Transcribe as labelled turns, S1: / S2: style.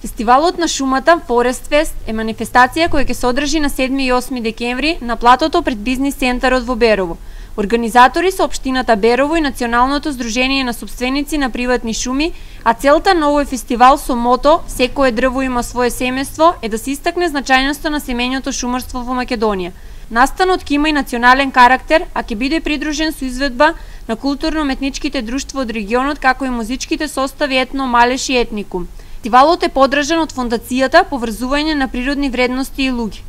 S1: Фестивалот на шумата Forest Fest е манифестација која ќе се одржи на 7 и 8 декември на платото пред бизнис центарот во Берово. Организатори се општината Берово и Националното здружение на сопственици на приватни шуми, а целта на овој фестивал со мото "Секое дрво има свое семејство" е да се истакне значајноста на семејното шумарство во Македонија. Настанот ќе има и национален карактер, а ќе биде придружен со изведба на културно-уметничките друштва од регионот, како и музичките состави Етно, Малеш и Етникум. Фестивалот е поддржан од Фондацијата Поврзување на природни вредности и луѓе.